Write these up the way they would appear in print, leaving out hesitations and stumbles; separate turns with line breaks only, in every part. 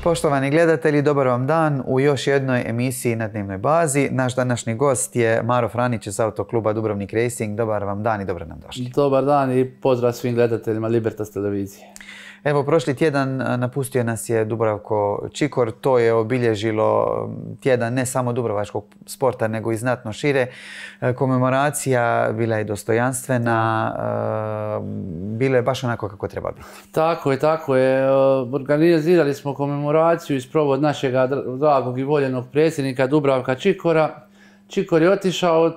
Poštovani gledatelji, dobar vam dan u još jednoj emisiji na dnevnoj bazi. Naš današnji gost je Maro Franić iz Autokluba Dubrovnik Racing. Dobar vam dan i dobro nam došli.
Dobar dan i pozdrav svim gledateljima Libertas televizije.
Evo, prošli tjedan napustio nas je Dubravko Čikor. To je obilježilo tjedan ne samo dubrovačkog sporta, nego i znatno šire. Komemoracija bila je dostojanstvena, bilo je baš onako kako treba biti.
Tako je. Organizirali smo komemoraciju iz sprovod našeg dragog i voljenog predsjednika Dubravka Čikora. Čikor je otišao,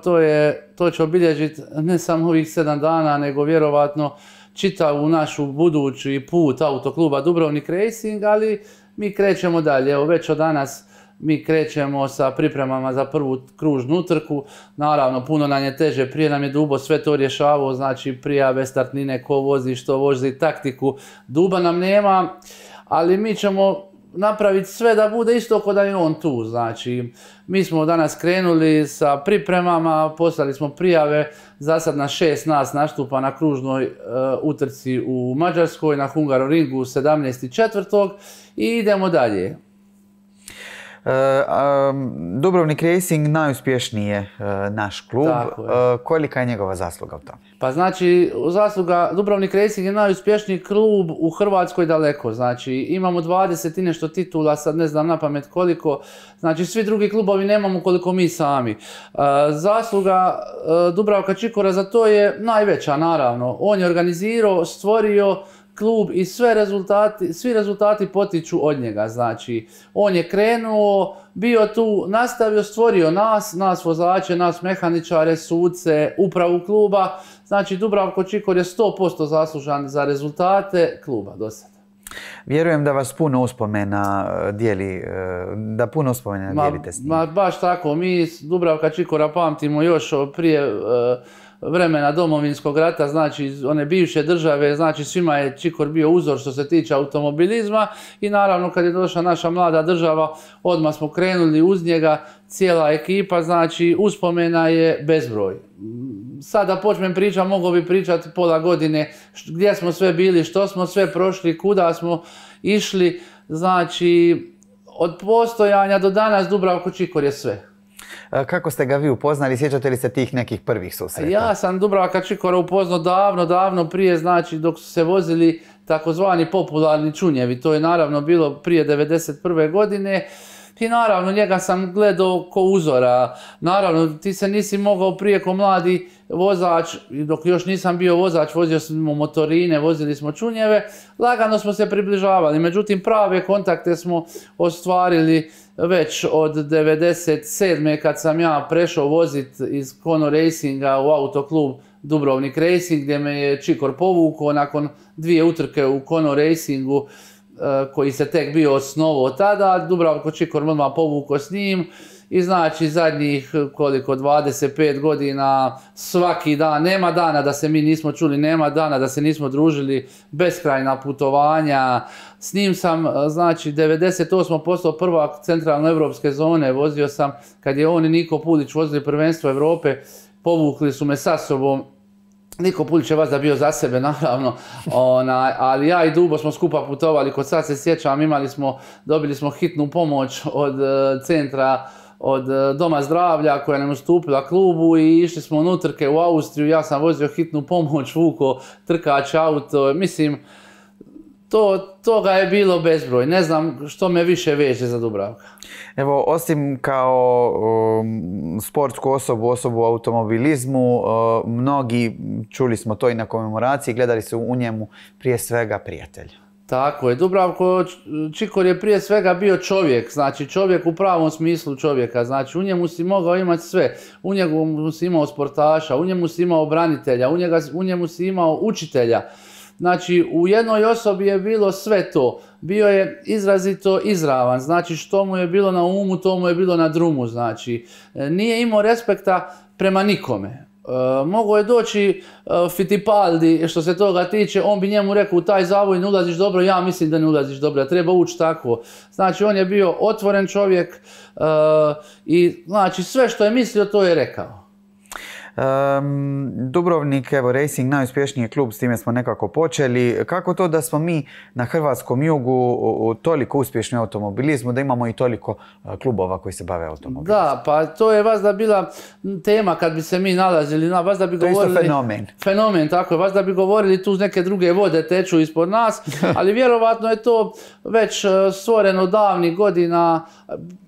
to će obilježiti ne samo ovih 7 dana, nego vjerovatno čitavu našu budući put Autokluba Dubrovnik Racing, ali mi krećemo dalje. Evo, već od danas mi krećemo sa pripremama za prvu kružnu utrku. Naravno, puno nam je teže, prije nam je Dubo sve to rješavao, znači prijave, startnine, ko vozi, što vozi, taktiku. Duba nam nema, ali mi ćemo napraviti sve da bude isto kao da je on tu. Znači, mi smo danas krenuli sa pripremama, poslali smo prijave, za sad na 6 nas nastupa na kružnoj utrci u Mađarskoj, na Hungaroringu 17.4. i idemo dalje.
Dubrovnik Racing najuspješniji je naš klub. Kolika je njegova zasluga u tome?
Pa znači, zasluga Dubrovnik Racing je najuspješniji klub u Hrvatskoj daleko. Znači, imamo 20 i nešto titula, sad ne znam napamet koliko. Znači, svi drugi klubovi nemamo koliko mi sami. Zasluga Dubravka Čikora za to je najveća, naravno. On je organizirao, stvorio klub i svi rezultati potiču od njega. Znači, on je krenuo, bio tu, nastavio, stvorio nas vozače, nas mehaničare, suce, upravu kluba. Znači, Dubravko Čikor je 100% zaslužan za rezultate kluba do sada.
Vjerujem da vas puno uspomena dijeli, da puno uspomena dijelite s njim.
Baš tako, mi Dubravka Čikora pamtimo još prije vremena Domovinskog rata, znači one bivše države, znači svima je Čikor bio uzor što se tiče automobilizma i naravno kad je došla naša mlada država, odmah smo krenuli uz njega, cijela ekipa, znači uspomena je bezbroj. Sada počnem pričati, mogu bi pričati pola godine gdje smo sve bili, što smo sve prošli, kuda smo išli, znači od postojanja do danas Dubravko Čikor je sve.
Kako ste ga vi upoznali? Sjećate li se tih nekih prvih susreta?
Ja sam Dubravka Čikora upoznao davno prije, znači dok su se vozili takozvani popularni čunjevi. To je naravno bilo prije 1991. godine. I naravno njega sam gledao ko uzora. Naravno ti se nisi mogao prije ko mladi vozač, dok još nisam bio vozač, vozio smo motorine, vozili smo čunjeve, lagano smo se približavali. Međutim, prave kontakte smo ostvarili već od 1997. kad sam ja prešao voziti iz Kono Racinga u Autoklub Dubrovnik Racing, gdje me je Čikor povukao nakon 2 utrke u Kono Racingu, koji se tek bio osnovao tada. Dubravko Čikor odmah povukao s njim i znači zadnjih 25 godina svaki dan, nema dana da se mi nismo čuli, nema dana da se nismo družili, beskrajna putovanja. S njim sam, znači 98. postao prvak centralnoevropske zone, vozio sam kad je on i Niko Pulić vozili prvenstvo Evrope, povukli su me sa sobom. Niko Pulić je vazda bio za sebe, naravno, ali ja i Dubo smo skupa putovali, kod sad se sjećam, dobili smo hitnu pomoć od centra, od Doma zdravlja koja nam ustupila klubu i išli smo na utrke u Austriju, ja sam vozio hitnu pomoć, vuko trkač auto, mislim, toga je bilo bezbroj, ne znam što me više veže za Dubravka.
Evo, osim kao sportsku osobu u automobilizmu, mnogi, čuli smo to i na komemoraciji, gledali su u njemu prije svega prijatelja.
Tako je, Dubravko Čikor je prije svega bio čovjek, znači čovjek u pravom smislu čovjeka, znači u njemu si mogao imati sve, u njemu si imao sportaša, u njemu si imao branitelja, u njemu si imao učitelja. Znači, u jednoj osobi je bilo sve to. Bio je izrazito izravan, znači što mu je bilo na umu, to mu je bilo na drumu, znači. Nije imao respekta prema nikome. Mogao je doći Fittipaldi, što se toga tiče, on bi njemu rekao u taj zavoj ne ulaziš dobro, ja mislim da ne ulaziš dobro, treba ući tako. Znači, on je bio otvoren čovjek i znači sve što je mislio, to je rekao.
Dubrovnik, evo, Racing, najuspješniji klub, s time smo nekako počeli. Kako to da smo mi na hrvatskom jugu toliko uspješni u automobilizmu, da imamo i toliko klubova koji se bave automobilizmom?
Da, pa to je vazda bila tema kad bi se mi nalazili, vazda bi govorili...
To je isto fenomen.
Fenomen, tako je, vazda bi govorili tu neke druge vode teču ispod nas, ali vjerovatno je to već stvoreno davnih godina.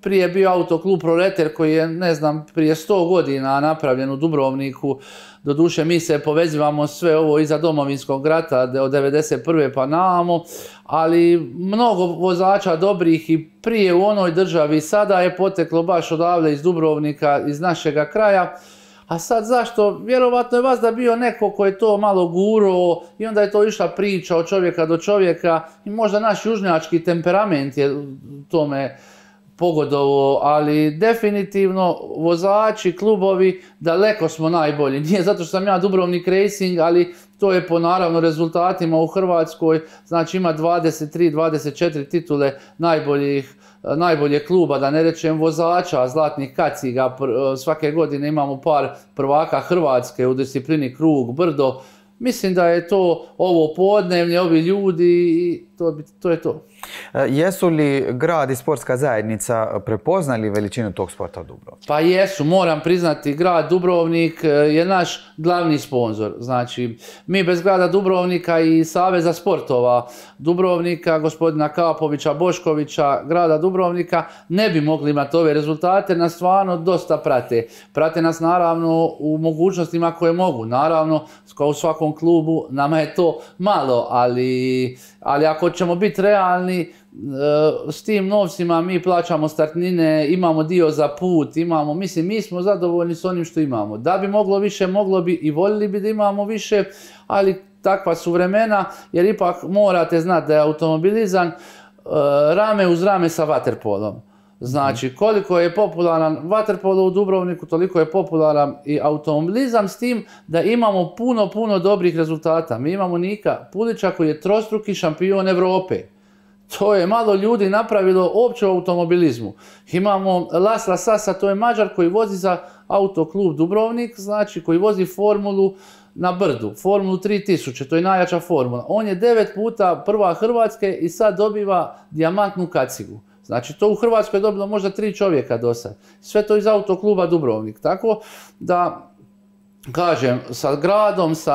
Prije bio autoklub Proleter koji je, ne znam, prije 100 godina napravljen u Dubrovniku. Doduše, mi se povezivamo sve ovo iza Domovinskog rata od 1991. pa namo, ali mnogo vozača dobrih i prije u onoj državi sada je poteklo baš odavde iz Dubrovnika, iz našega kraja. A sad zašto? Vjerovatno je vazda bio neko ko je to malo gurao i onda je to išla priča od čovjeka do čovjeka i možda naš južnjački temperament je tome pogodovao, ali definitivno vozači, klubovi, daleko smo najbolji. Nije zato što sam ja Dubrovnik Racing, ali to je po naravno rezultatima u Hrvatskoj, znači ima 23-24 titule najboljeg kluba, da ne rečem vozača, zlatnih kaciga, svake godine imamo par prvaka Hrvatske u disciplini krug, brdo. Mislim da je to ovo podnevlje, ovi ljudi i to je to.
Jesu li grad i sportska zajednica prepoznali veličinu tog sporta u Dubrovniku?
Pa jesu, moram priznati, grad Dubrovnik je naš glavni sponzor. Znači, mi bez grada Dubrovnika i Saveza sportova Dubrovnika, gospodina Kapovića, Boškovića, grada Dubrovnika, ne bi mogli imati ove rezultate, nas stvarno dosta prate. Prate nas naravno u mogućnostima koje mogu. Naravno, kao u svakom klubu, nama je to malo, ali ako ćemo biti realni, s tim novcima mi plaćamo startnine, imamo dio za put, mi smo zadovoljni s onim što imamo. Da bi moglo više, moglo bi i voljeli bi da imamo više, ali takva su vremena, jer ipak morate znati da je automobilizam rame uz rame sa vaterpolom. Znači, koliko je popularan vaterpolo u Dubrovniku, toliko je popularan i automobilizam, s tim da imamo puno dobrih rezultata. Mi imamo Nika Pulića koji je trostruki šampion Evrope. To je malo ljudi napravilo uopće u automobilizmu. Imamo Lasla Sasa, to je Mađar koji vozi za autoklub Dubrovnik, znači koji vozi formulu na brdu, formulu 3000, to je najjača formula. On je 9 puta prva Hrvatske i sad dobiva dijamantnu kacigu. Znači, to u Hrvatskoj je dobilo možda 3 čovjeka do sad. Sve to iz autokluba Dubrovnik. Tako da, kažem, sa gradom, sa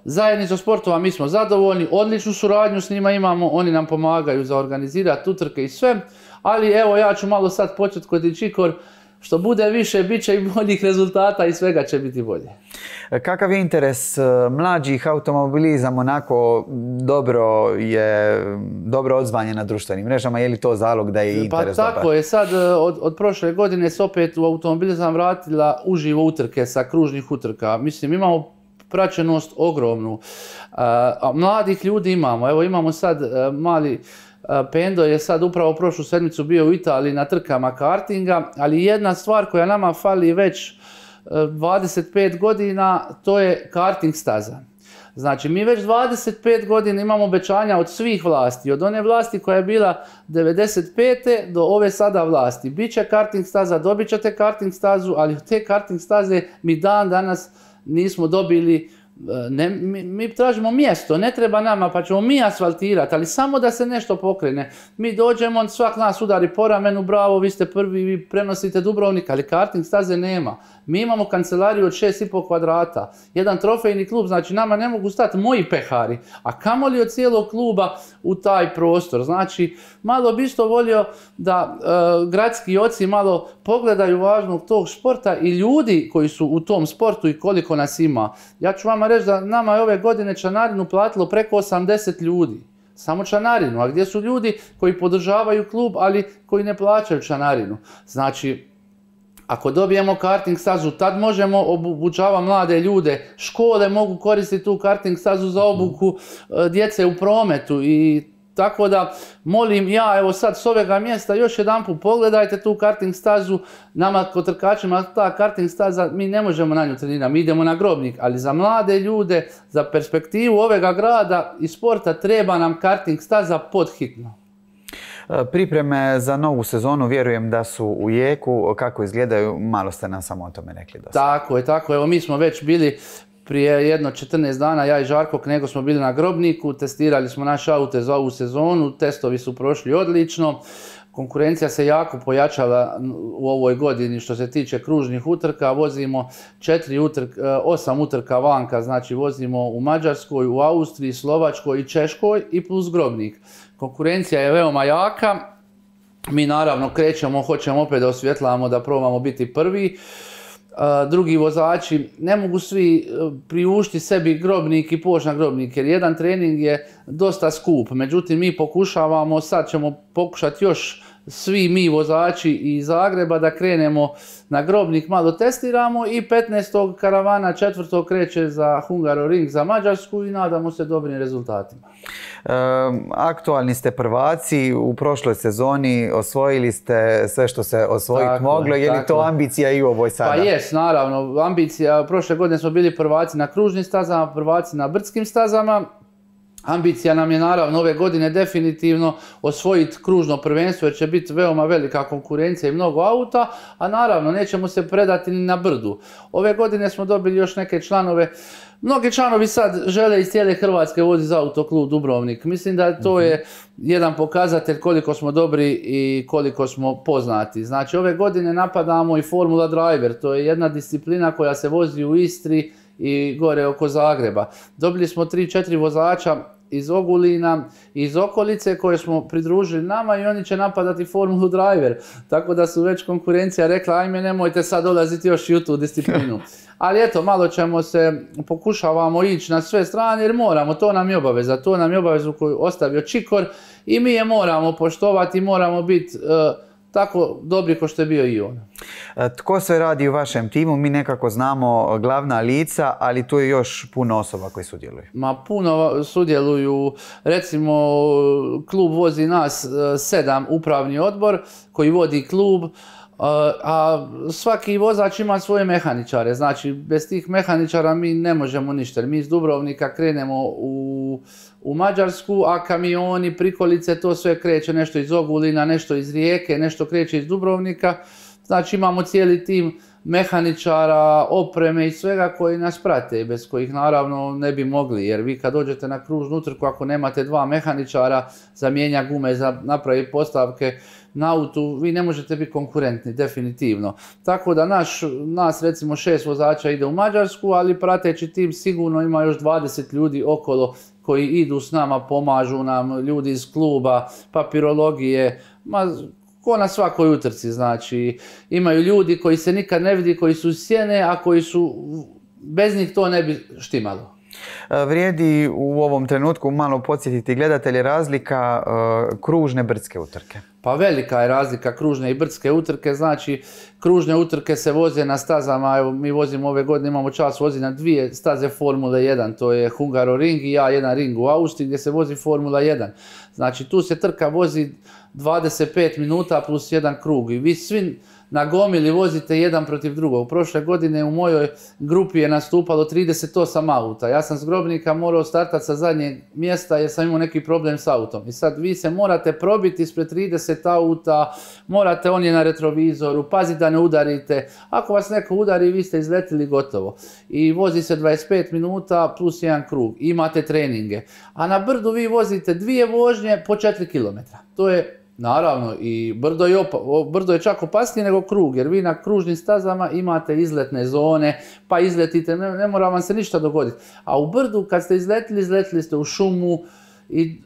zajednicom sportova mi smo zadovoljni, odličnu suradnju s njima imamo, oni nam pomagaju za organizirati utrke i sve, ali evo ja ću malo sad početi kod Čikor, što bude više, bit će i boljih rezultata i svega će biti bolje.
Kakav je interes mlađih? Automobilizam onako dobro odzvanjen na društvenim mrežama, je li to zalog da je interes dobar?
Pa tako je, sad od prošle godine se opet u automobilizam vratila uživo utrke sa kružnih utrka. Mislim, imamo praćenost ogromnu. Mladih ljudi imamo, evo imamo sad mali Pendo je sad upravo prošlu sedmicu bio u Italiji na trkama kartinga, ali jedna stvar koja nama fali već 25 godina, to je karting staza. Znači, mi već 25 godina imamo obećanja od svih vlasti, od one vlasti koja je bila 95. do ove sada vlasti. Biće karting staza, dobit ćete karting stazu, ali od te karting staze mi dan danas nismo dobili. Mi tražimo mjesto, ne treba nama, pa ćemo mi asfaltirati, ali samo da se nešto pokrene. Mi dođemo, svak nas udari po ramenu, bravo, vi ste prvi, vi prenosite Dubrovnik, ali karting staze nema. Mi imamo kancelariju od 6,5 kvadrata, jedan trofejni klub, znači nama ne mogu stati moji pehari, a kamoli od cijelog kluba u taj prostor. Znači, malo bi isto volio da gradski oci malo pogledaju važnog tog sporta i ljudi koji su u tom sportu i koliko nas ima. Ja ću vama reći da nama je ove godine članarinu platilo preko 80 ljudi. Samo članarinu. A gdje su ljudi koji podržavaju klub, ali koji ne plaćaju članarinu? Znači, ako dobijemo karting stazu, tad možemo obučavati mlade ljude. Škole mogu koristiti tu karting stazu za obuku djece u prometu i tako da, molim ja, evo sad s ovega mjesta još jedanput pogledajte tu karting stazu. Nama kod trkačima ta karting staza, mi ne možemo na nju trenirati, mi idemo na Grobnik, ali za mlade ljude, za perspektivu ovega grada i sporta treba nam karting staza podhitno.
Pripreme za novu sezonu vjerujem da su u jeku. Kako izgledaju? Malo ste nam samo o tome rekli dosta.
Tako je. Evo, mi smo već bili prije jedno 14 dana, ja i Žarko Knego smo bili na Grobniku, testirali smo naše aute za ovu sezonu, testovi su prošli odlično. Konkurencija se jako pojačala u ovoj godini što se tiče kružnih utrka. Vozimo 8 utrka vanka, znači vozimo u Mađarskoj, u Austriji, Slovačkoj i Češkoj i plus Grobnik. Konkurencija je veoma jaka. Mi naravno krećemo, hoćemo opet da osvjetlamo, da probamo biti prvi. Drugi vozači ne mogu svi priuštiti sebi Grobnik i poći na Grobnik, jer jedan trening je dosta skup. Međutim, mi pokušavamo, sad ćemo pokušati još svi mi vozači iz Zagreba da krenemo na Grobnik, malo testiramo i 15. karavana 4. kreće za Hungaroring za Mađarsku i nadamo se dobrim rezultatima.
Aktualni ste prvaci, u prošloj sezoni osvojili ste sve što se osvojiti moglo. Je li to ambicija i u ovoj sada?
Pa jest, naravno. Ambicija, prošle godine smo bili prvaci na kružnim stazama, prvaci na brdskim stazama. Ambicija nam je naravno ove godine definitivno osvojiti kružno prvenstvo jer će biti veoma velika konkurencija i mnogo auta, a naravno nećemo se predati ni na brdu. Ove godine smo dobili još neke članove. Mnogi članovi sad žele iz cijele Hrvatske voziti za Autoklub Dubrovnik. Mislim da to je jedan pokazatelj koliko smo dobri i koliko smo poznati. Znači ove godine napadamo i Formula Driver, to je jedna disciplina koja se vozi u Istri i gore oko Zagreba. Dobili smo 3-4 vozača iz Ogulina, iz okolice koje smo pridružili nama i oni će napadati Formulu Driver. Tako da su već konkurencija rekla ajme nemojte sad dolaziti još i u tu disciplinu. Ali eto, malo ćemo se, pokušavamo ići na sve strane jer moramo, to nam je obaveza. To nam je obavezu koju ostavio Čikor i mi je moramo poštovati, moramo biti tako dobri kao što je bio i on.
Tko sve radi u vašem timu? Mi nekako znamo glavna lica, ali tu je još puno osoba koji sudjeluju.
Ma puno sudjeluju, recimo klub vozi nas 7 upravni odbor koji vodi klub, a svaki vozač ima svoje mehaničare, znači bez tih mehaničara mi ne možemo ništa. Mi iz Dubrovnika krenemo u Mađarsku, a kamioni, prikolice, to sve kreće nešto iz Ogulina, nešto iz Rijeke, nešto kreće iz Dubrovnika. Znači imamo cijeli tim mehaničara, opreme i svega koji nas prate, bez kojih naravno ne bi mogli, jer vi kad dođete na kružnu utrku, ako nemate 2 mehaničara za mijenja gume, za napraviti postavke na autu, vi ne možete biti konkurentni, definitivno. Tako da nas recimo 6 vozača ide u Mađarsku, ali prateći tim sigurno ima još 20 ljudi okolo koji idu s nama, pomažu nam, ljudi iz kluba, papirologije, ko na svakoj utrci, znači imaju ljudi koji se nikad ne vidi, koji su sjene, a koji su, bez njih to ne bi štimalo.
Vrijedi u ovom trenutku malo podsjetiti gledatelje razlika kružne brdske utrke.
Pa velika je razlika kružne i brdske utrke, znači kružne utrke se voze na stazama, evo mi vozimo ove godine, imamo čas vozi na 2 staze Formule 1, to je Hungaroring i A1 ring u Austriji gdje se vozi Formula 1. Znači tu se trka vozi 25 minuta plus 1 krug i vi svi na gomili vozite jedan protiv drugog. Prošle godine u mojoj grupi je nastupalo 38 auta. Ja sam s Grobnika morao startati sa zadnjeg mjesta jer sam imao neki problem s autom. I sad vi se morate probiti ispred 30 auta, morate, on je na retrovizoru, pazite da ne udarite. Ako vas neko udari, vi ste izletili gotovo. I vozi se 25 minuta plus 1 krug. Imate treninge. A na brdu vi vozite 2 vožnje po 4 km. To je naravno i brdo je čak opasnije nego krug, jer vi na kružnim stazama imate izletne zone, pa izletite, ne mora vam se ništa dogoditi. A u brdu kad ste izletili ste u šumu i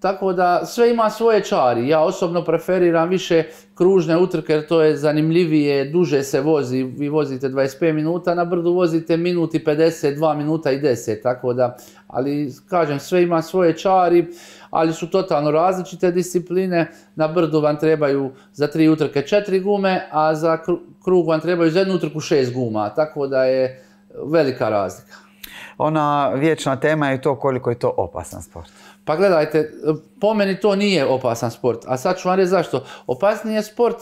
tako da sve ima svoje čari. Ja osobno preferiram više kružne utrke jer to je zanimljivije, duže se vozi, vi vozite 25 minuta, na brdu vozite minut i 50, 2 minuta i 10, tako da, ali kažem, sve ima svoje čari, ali su totalno različite discipline. Na brdu vam trebaju za 3 utrke 4 gume, a za krug vam trebaju za 1 utrku 6 guma, tako da je velika razlika.
Ona vječna tema je to koliko je to opasan sport.
Pa gledajte, po meni to nije opasan sport, a sad ću vam reći zašto. Opasniji je sport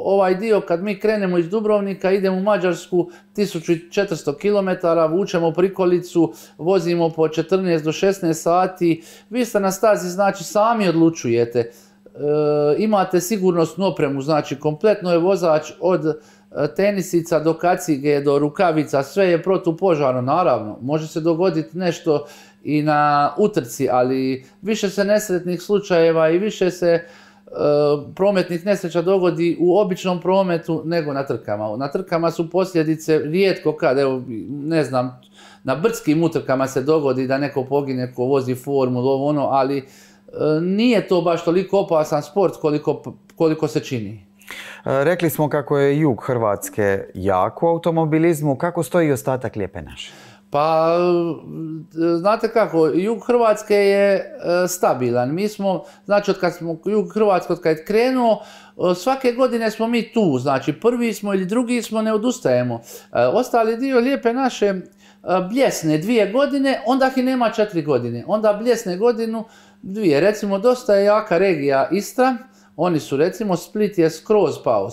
ovaj dio kad mi krenemo iz Dubrovnika, idemo u Mađarsku 1400 km, vučemo prikolicu, vozimo po 14 do 16 sati, vi ste na stazi, znači sami odlučujete. imate sigurnosnu opremu, znači kompletno je vozač od tenisica do kacige, do rukavica, sve je protupožarno, naravno. Može se dogoditi nešto i na utrci, ali više se nesretnih slučajeva i više se prometnih nesreća dogodi u običnom prometu nego na trkama. Na trkama su posljedice rijetko kad, evo, ne znam, na brdskim utrkama se dogodi da neko pogine ko vozi formulu, ovo ono, ali nije to baš toliko opasan sport koliko se čini.
Rekli smo kako je jug Hrvatske jak u automobilizmu. Kako stoji ostatak Lijepe naše?
Pa, znate kako, jug Hrvatske je stabilan. Mi smo, znači, od kad smo jug Hrvatske, od kad je krenuo, svake godine smo mi tu. Znači, prvi smo ili drugi smo, ne odustajemo. Ostali dio Lijepe naše bljesne 2 godine, onda ih nema 4 godine. Onda bljesne godinu 2. Recimo, dosta je jaka regija Istra. Oni su, recimo, Split je skroz pao.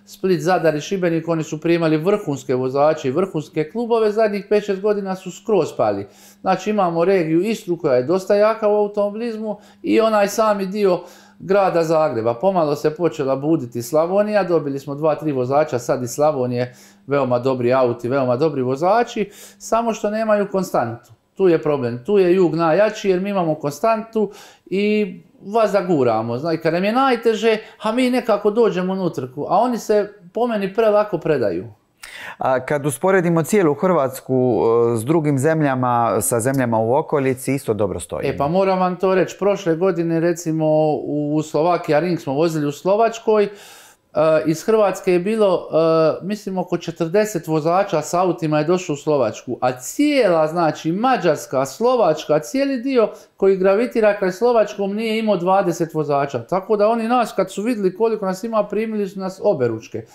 Split, Zadar i Šibenik, oni su primali vrhunske vozače i vrhunske klubove, zadnjih 5-6 godina su skroz pali. Znači, imamo regiju Istru koja je dosta jaka u automobilizmu i onaj sami dio grada Zagreba. Pomalo se počela buditi Slavonija, dobili smo 2-3 vozača sad iz Slavonije, veoma dobri auti, veoma dobri vozači, samo što nemaju konstantu. Tu je problem, tu je jug najjači jer mi imamo konstantu i vas zaguramo. Znači, kad nam je najteže, a mi nekako dođemo na utrku, a oni se po meni prelako predaju.
A kad usporedimo cijelu Hrvatsku s drugim zemljama, sa zemljama u okolici, isto dobro stoji.
Pa moram vam to reći, prošle godine recimo u Slovakia Ring smo vozili u Slovačkoj, iz Hrvatske je bilo, mislim, oko 40 vozača s autima je došlo u Slovačku, a cijela, znači, Mađarska, Slovačka, cijeli dio koji gravitira kraj Slovačkom nije imao 20 vozača. Tako da oni nas, kad su vidjeli koliko nas ima, primili su nas oberučke.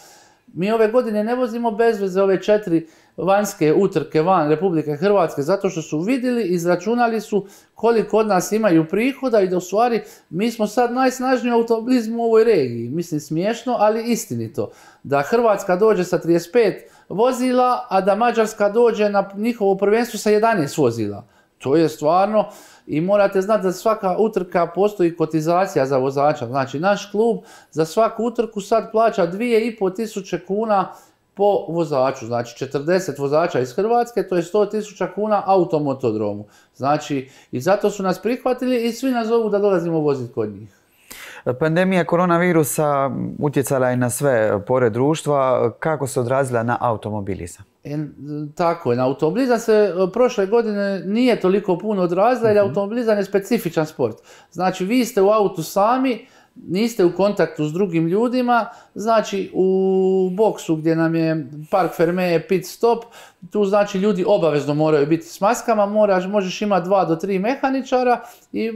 Mi ove godine ne vozimo bez veze ove 4 vanjske utrke van Republike Hrvatske, zato što su vidjeli, izračunali su koliko od nas imaju prihoda i da u stvari mi smo sad najsnažniji u automobilizmu u ovoj regiji. Mislim, smiješno, ali istinito. Da Hrvatska dođe sa 35 vozila, a da Mađarska dođe na njihovo prvenstvo sa 11 vozila. To je stvarno, i morate znati da svaka utrka postoji kotizacija za vozača. Znači, naš klub za svaku utrku sad plaća 2.500 kuna po vozaču. Znači, 40 vozača iz Hrvatske, to je 100.000 kuna automotodromu. Znači, i zato su nas prihvatili i svi nas zovu da dolazimo voziti kod njih.
Pandemija koronavirusa utjecala je na sve pore društva. Kako se odrazila na automobilizam?
Tako je, na automobilizam se prošle godine nije toliko puno odrazila jer automobilizam je specifičan sport. Znači, vi ste u autu sami, niste u kontaktu s drugim ljudima, znači u boksu gdje nam je Park Fermé pit stop, tu znači ljudi obavezno moraju biti s maskama, možeš imati 2 do 3 mehaničara i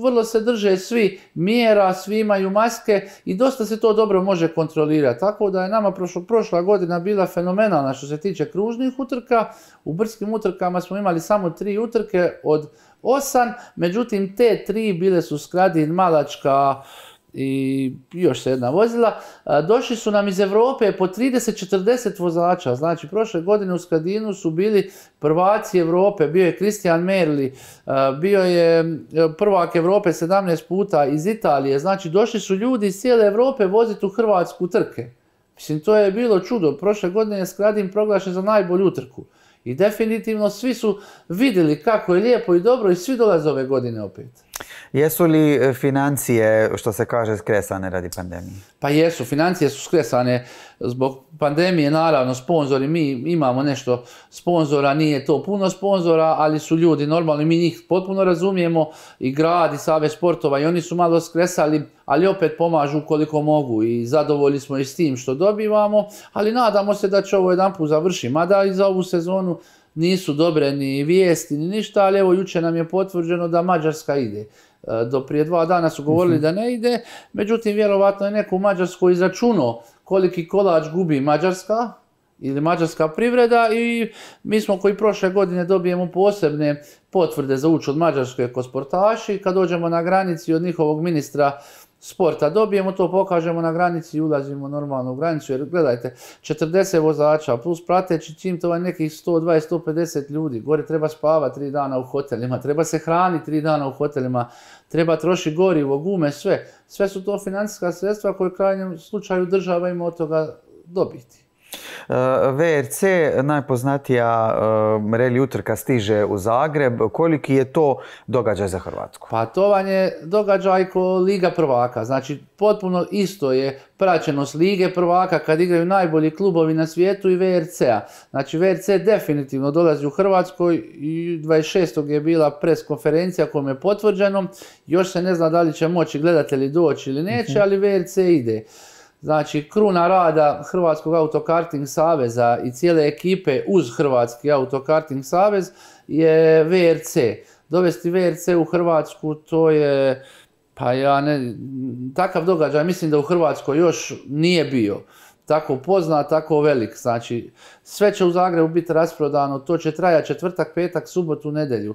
vrlo se drže svi mjera, svi imaju maske i dosta se to dobro može kontrolirati. Tako da je nama prošla godina bila fenomenalna što se tiče kružnih utrka. U brdskim utrkama smo imali samo 3 utrke od 8, međutim te 3 bile su Skradin, Malačka i još se jedna vozila. Došli su nam iz Europe po 30-40 vozača. Znači, prošle godine u Skradinu su bili prvaci Europe, bio je Christian Merli, bio je prvak Europe 17 puta iz Italije. Znači, došli su ljudi iz cijele Europe voziti u Hrvatsku trke. Mislim, to je bilo čudo. Prošle godine je Skradin proglašen za najbolju utrku. I definitivno svi su vidjeli kako je lijepo i dobro i svi dolaze ove godine opet.
Jesu li financije, što se kaže, skresane radi pandemije?
Pa jesu, financije su skresane zbog pandemije, naravno, sponzori, mi imamo nešto sponzora, nije to puno sponzora, ali su ljudi normalni, mi njih potpuno razumijemo, i grad i Savez sportova, i oni su malo skresali, ali opet pomažu koliko mogu i zadovoljni smo i s tim što dobivamo, ali nadamo se da će ovo jedanput završiti, mada i za ovu sezonu nisu dobre ni vijesti ni ništa, ali evo jučer nam je potvrđeno da Mađarska ide. Do prije 2 dana su govorili da ne ide, međutim vjerovatno je neko u Mađarskoj izračunao koliki kolač gubi Mađarska ili mađarska privreda i mi smo koji prošle godine dobijemo posebne potvrde za ući od Mađarske ko sportaši. Kad dođemo na granici od njihovog ministra sporta dobijemo, to pokažemo na granici i ulazimo normalno u granicu, jer gledajte, 40 vozača plus prateći tim, to je nekih 120-150 ljudi, gore treba spavati 3 dana u hotelima, treba se hraniti 3 dana u hotelima, treba trošiti gorivo, gume, sve su to financijska sredstva koje u krajnjem slučaju država ima od toga dobiti.
VRC, najpoznatija reli utrka, stiže u Zagreb. Koliki je to događaj za Hrvatsku?
Pa to vam je događaj ko Liga prvaka. Znači, potpuno isto je praćenost Lige prvaka kad igraju najbolji klubovi na svijetu i VRC-a. Znači, VRC definitivno dolazi u Hrvatskoj i 26. je bila pres konferencija kojom je potvrđeno. Još se ne zna da li će moći gledatelji doći ili neće, ali VRC ide. Znači, kruna rada Hrvatskog autokarting saveza i cijele ekipe uz Hrvatski autokarting savez je VRC. Dovesti VRC u Hrvatsku, to je, takav događaj mislim da u Hrvatskoj još nije bio. Tako poznat, tako velik. Znači, sve će u Zagrebu biti rasprodano, to će trajati četvrtak, petak, subotu, nedjelju.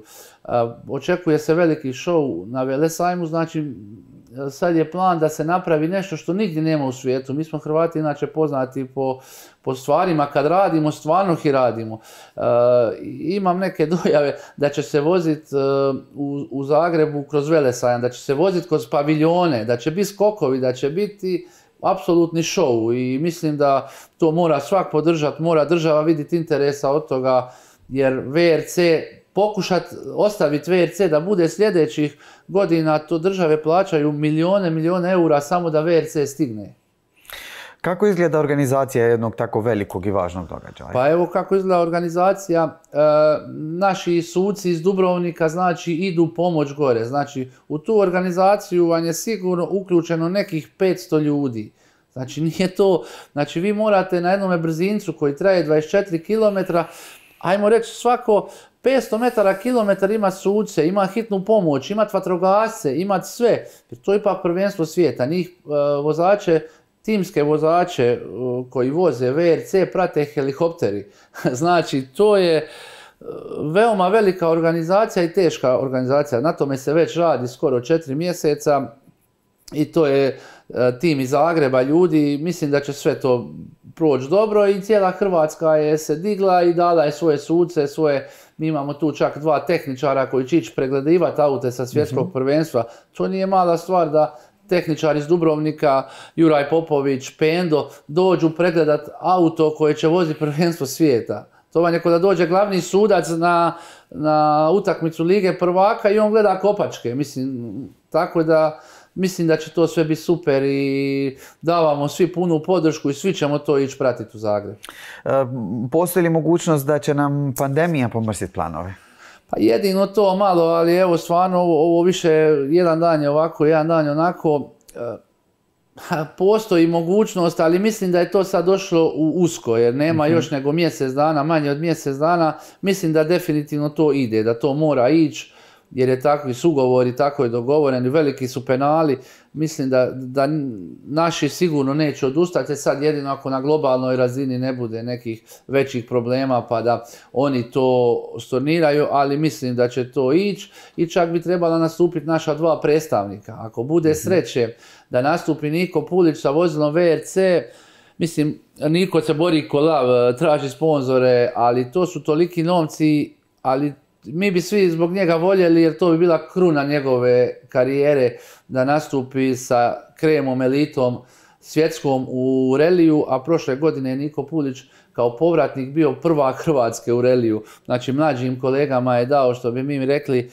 Očekuje se veliki show na Velesajmu, znači sad je plan da se napravi nešto što nigdje nema u svijetu. Mi smo Hrvati inače poznati po stvarima, kad radimo, stvarno ih radimo. Imam neke dojave da će se voziti u Zagrebu kroz Velesajam, da će se voziti kroz paviljone, da će biti skokovi, da će biti apsolutni show i mislim da to mora svak podržati, mora država vidjeti interesa od toga, jer VRC, pokušati ostaviti VRC da bude sljedećih godina, to države plaćaju milijone eura samo da VRC stigne.
Kako izgleda organizacija jednog tako velikog i važnog događaja?
Pa evo kako izgleda organizacija. Naši suci iz Dubrovnika znači idu pomoć gore. Znači u tu organizaciju vam je sigurno uključeno nekih 500 ljudi. Znači nije to, znači vi morate na jednome brzincu koji traje 24 km, ajmo reći svako 500 metara, kilometar ima suce, ima hitnu pomoć, ima vatrogasce, ima sve. To je ipak prvenstvo svijeta. Njih vozače, timske vozače koji voze VRC prate helikopteri. Znači to je veoma velika organizacija i teška organizacija. Na tome se već radi skoro 4 mjeseca i to je tim iz Zagreba ljudi. Mislim da će sve to proći dobro i cijela Hrvatska je se digla i dala je svoje suce, mi imamo tu čak 2 tehničara koji će ići pregledivati aute sa svjetskog prvenstva. To nije mala stvar da tehničar iz Dubrovnika, Juraj Popović, Pendo, dođu pregledat auto koje će voziti prvenstvo svijeta. To vam je kao da dođe glavni sudac na utakmicu Lige prvaka i on gleda kopačke. Tako da mislim da će to sve biti super i davamo svi punu podršku i svi ćemo to ići pratiti u Zagreb.
Postoji li mogućnost da će nam pandemija pomrsiti planove?
Pa jedino to malo, ali evo stvarno ovo više jedan dan je ovako, jedan dan je onako. Postoji mogućnost, ali mislim da je to sad došlo u usko, jer nema još nego mjesec dana, manje od mjesec dana. Mislim da definitivno to ide, da to mora ići, jer je takvi sugovori, tako je dogovoreni, veliki su penali. Mislim da naši sigurno neće odustati, sad jedino ako na globalnoj razini ne bude nekih većih problema pa da oni to storniraju, ali mislim da će to ići i čak bi trebala nastupiti naša 2 predstavnika. Ako bude sreće da nastupi Niko Pulić sa vozilom VRC, mislim, Niko se bori ko lav, traži sponzore, ali to su toliki novci, ali mi bi svi zbog njega voljeli jer to bi bila kruna njegove karijere da nastupi sa kremom, elitom svjetskom u reliju, a prošle godine je Niko Pulić kao povratnik bio prvak Hrvatske u reliju. Znači mlađim kolegama je dao, što bi mi rekli,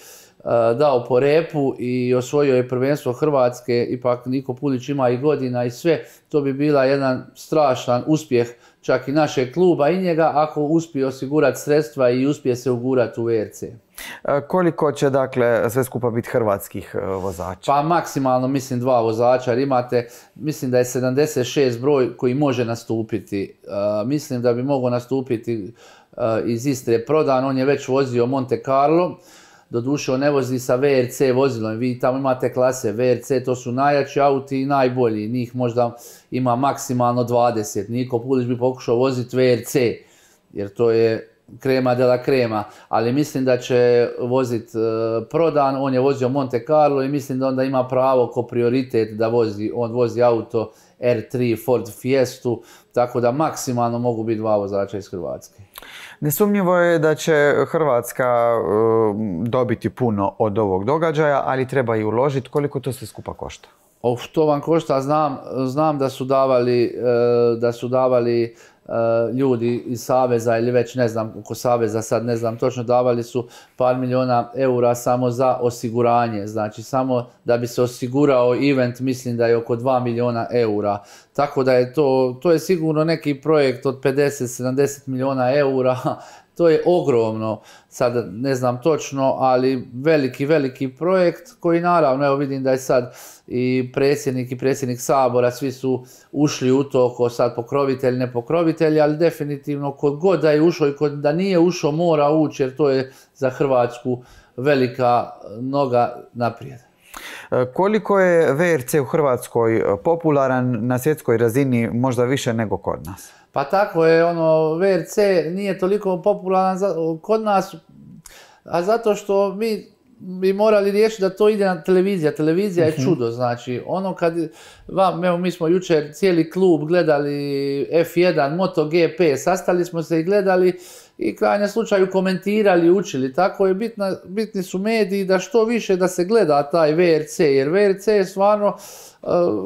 dao po repu i osvojio je prvenstvo Hrvatske. Ipak Niko Pulić ima i godina i sve. To bi bila jedan strašan uspjeh čak i našeg kluba i njega ako uspije osigurati sredstva i uspije se ugurati u VRC.
Koliko će dakle sve skupa biti hrvatskih vozača?
Pa maksimalno mislim 2 vozača, jer imate, mislim da je 76 broj koji može nastupiti. Mislim da bi mogao nastupiti iz Istre Prodan, on je već vozio Monte Carlo. Doduše on ne vozi sa VRC vozilom, vi tamo imate klase VRC, to su najjači auti i najbolji, njih možda ima maksimalno 20. Niko Pulić bi pokušao voziti VRC, jer to je krema de la krema, ali mislim da će voziti Prodan, on je vozio Monte Carlo i mislim da onda ima pravo ko prioritet da on vozi auto R3 Ford Fiestu, tako da maksimalno mogu biti 2 vozača iz Hrvatske.
Nesumnjivo je da će Hrvatska dobiti puno od ovog događaja, ali treba i uložiti. Koliko to sve skupa košta?
To vam košta, znam da su davali ljudi iz Saveza ili već ne znam oko Saveza, sad ne znam točno, davali su par milijuna eura samo za osiguranje, znači samo da bi se osigurao event, mislim da je oko 2 milijuna eura, tako da je to je sigurno neki projekt od 50-70 milijuna eura. To je ogromno, sad ne znam točno, ali veliki projekt koji naravno, evo vidim da je sad i predsjednik Sabora, svi su ušli u to ko sad pokrovitelj, ne pokrovitelj, ali definitivno kod god da je ušao i kod da nije ušao mora ući jer to je za Hrvatsku velika noga naprijed.
Koliko je VRC u Hrvatskoj popularan na svjetskoj razini, možda više nego kod nas?
Pa tako je, VRC nije toliko popularan kod nas, a zato što mi bi morali riješiti da to ide na televizija. Televizija je čudo, znači evo mi smo jučer cijeli klub gledali F1, MotoGP, sastali smo se i gledali i krajnjem slučaju komentirali, učili, tako je bitni su mediji da što više da se gleda taj VRC, jer VRC je stvarno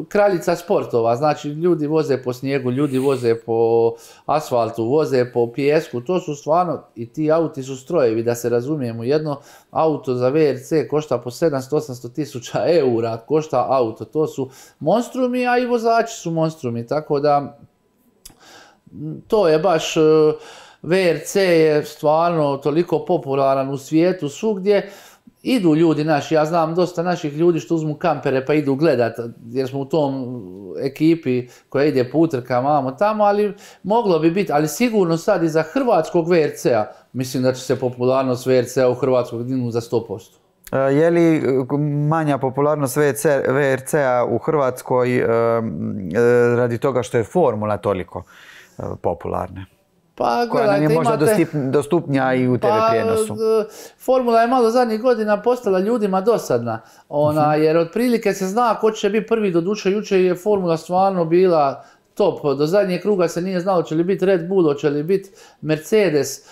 kraljica sportova, znači ljudi voze po snijegu, ljudi voze po asfaltu, voze po pijesku, to su stvarno, i ti auti su strojevi, da se razumijemo, jedno auto za VRC košta po 700-800 tisuća eura, košta auto, to su monstrumi, a i vozači su monstrumi, tako da to je baš, VRC je stvarno toliko popularan u svijetu, svugdje. Idu ljudi naši, ja znam dosta naših ljudi što uzmu kampere pa idu gledat, jer smo u tom ekipi koja ide po utrkama tamo, ali moglo bi biti, ali sigurno sad i za hrvatskog VRC-a, mislim da će se popularnost VRC-a u Hrvatskoj dignuti za 100%.
Je li manja popularnost VRC-a u Hrvatskoj radi toga što je formula toliko popularna?
Pa,
koja nam je možda dostupnija i u TV prijenosu?
Formula je malo zadnjih godina postala ljudima dosadna, jer otprilike se zna ko će biti prvi, doduše jučer je formula stvarno bila top, do zadnjeg kruga se nije znalo će li biti Red Bull, će li biti Mercedes,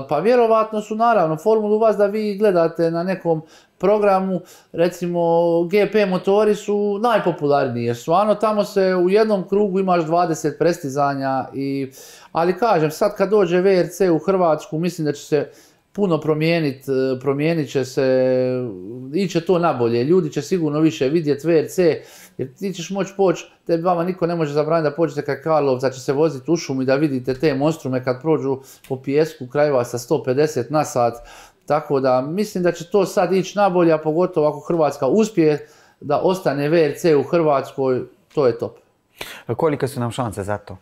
pa vjerovatno su naravno formulu vas da vi gledate na nekom programu, recimo GP motori su najpopularniji, jer stvarno tamo se u jednom krugu imaš 20 prestizanja, ali kažem, sad kad dođe VRC u Hrvatsku, mislim da će se puno promijenit će se, iće to nabolje, ljudi će sigurno više vidjeti VRC, jer ti ćeš moći poći, vama niko ne može zabraniti da pođete kad Karlovca će se voziti u šumu i da vidite te monstrume kad prođu po pijesku krajeva sa 150 na sat, tako da mislim da će to sad ići nabolje, a pogotovo ako Hrvatska uspije da ostane VRC u Hrvatskoj, to je top.
Kolike su nam šanse za to?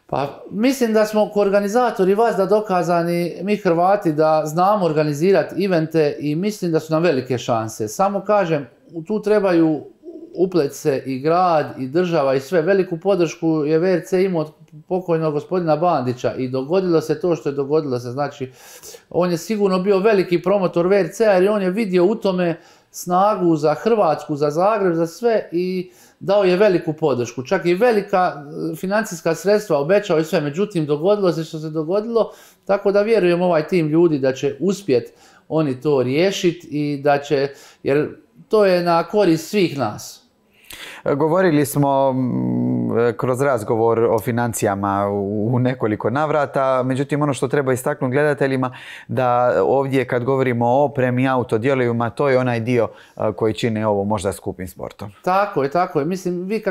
Pa mislim da smo ko organizatori vas da dokazani, mi Hrvati, da znamo organizirati evente i mislim da su nam velike šanse. Samo kažem, tu trebaju uplet se i grad i država i sve. Veliku podršku je VRC imao od pokojnog gospodina Bandića i dogodilo se to što je dogodilo se. Znači, on je sigurno bio veliki promotor VRC-a jer on je vidio u tome snagu za Hrvatsku, za Zagreb, za sve i dao je veliku podršku. Čak i velika financijska sredstva obećao i sve. Međutim, dogodilo se što se dogodilo, tako da vjerujem ovaj tim ljudi da će uspjeti oni to riješiti i da će, jer to je na korist svih nas.
Govorili smo kroz razgovor o financijama u nekoliko navrata, međutim ono što treba istaknuti gledateljima da ovdje kad govorimo o opremi, autodijelovima, to je onaj dio koji čine ovo možda skupim sportom.
Tako je. Mislim, vi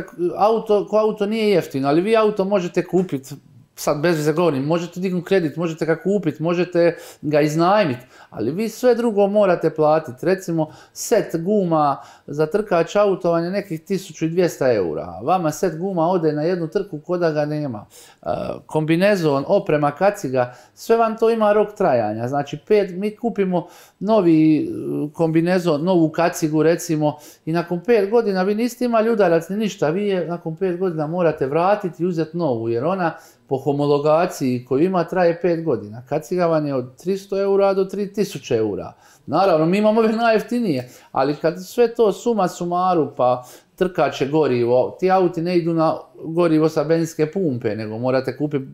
auto nije jeftino, ali vi auto možete kupiti, sad bez veze govorim, možete dignuti kredit, možete ga kupiti, možete ga iznajmiti, ali vi sve drugo morate platiti. Recimo, set guma za trkač autovanja nekih 1200 eura. Vama set guma ode na jednu trku ko da ga nema. Kombinezon, oprema, kaciga, sve vam to ima rok trajanja. Znači, mi kupimo novi kombinezon, novu kacigu recimo i nakon 5 godina vi niste imali udarac ni ništa. Vi je nakon 5 godina morate vratiti i uzeti novu jer ona po homologaciji koju ima traje 5 godina. Kacigavanje od 300 eura do 3000 eura. Naravno, mi imamo ove najjeftinije, ali kad sve to suma sumaru, pa trkaće gorivo, ti auti ne idu na gorivo sa benzinske pumpe, nego morate kupiti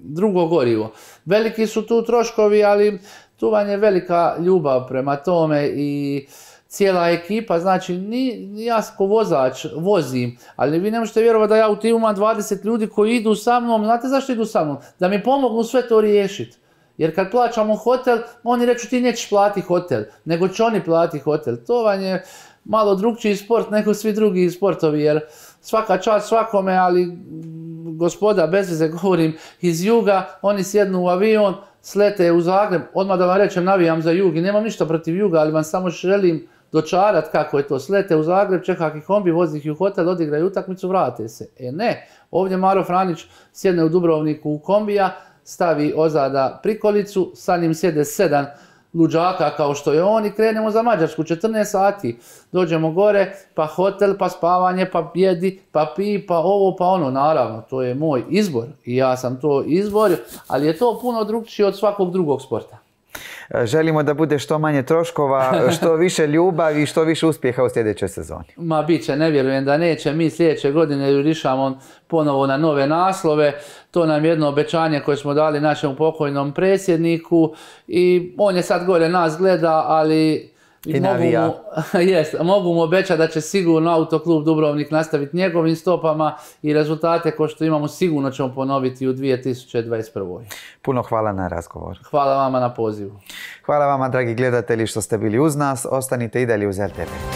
drugo gorivo. Veliki su tu troškovi, ali tu vam je velika ljubav prema tome i cijela ekipa, znači ja ko vozač vozim, ali vi ne možete vjerovati da ja u timu imam 20 ljudi koji idu sa mnom, znate zašto idu sa mnom? Da mi pomognu sve to riješiti. Jer kad plaćamo hotel, oni reću ti nećeš platiti hotel, nego će oni platiti hotel. To vam je malo drugčiji sport nego svi drugi sportovi, jer svaka čast svakome, ali gospoda, bez veze govorim, iz juga, oni sjednu u avion, slete u Zagreb, odmah da vam rečem, navijam za Jug i nemam ništa protiv Juga, ali vam samo želim dočarat kako je to. Slete u Zagreb, čeka ih kombi, vozi ih u hotel, odigraju utakmicu, vrate se. Ne, ovdje Maro Franić sjedne u Dubrovniku u kombija, stavi ozada prikolicu, sa njim sjede 7 luđaka kao što je on i krenemo za Mađarsku, 14 sati. Dođemo gore, pa hotel, pa spavanje, pa jedi, pa pi, pa ovo, pa ono. Naravno, to je moj izbor i ja sam to izborio, ali je to puno drugčije od svakog drugog sporta.
Želimo da bude što manje troškova, što više ljubavi i što više uspjeha u sljedećoj sezoni.
Ma bit će, ne vjerujem da neće. Mi sljedeće godine jurišamo ponovo na nove naslove. To nam je jedno obećanje koje smo dali našem pokojnom predsjedniku i on je sad gore nas gleda, ali mogu mu obećati da će sigurno Autoklub Dubrovnik nastaviti njegovim stopama i rezultate ko što imamo sigurno ćemo ponoviti u 2021.
Puno hvala na razgovor.
Hvala vama na pozivu.
Hvala vama, dragi gledatelji, što ste bili uz nas. Ostanite i dalje uz RTV.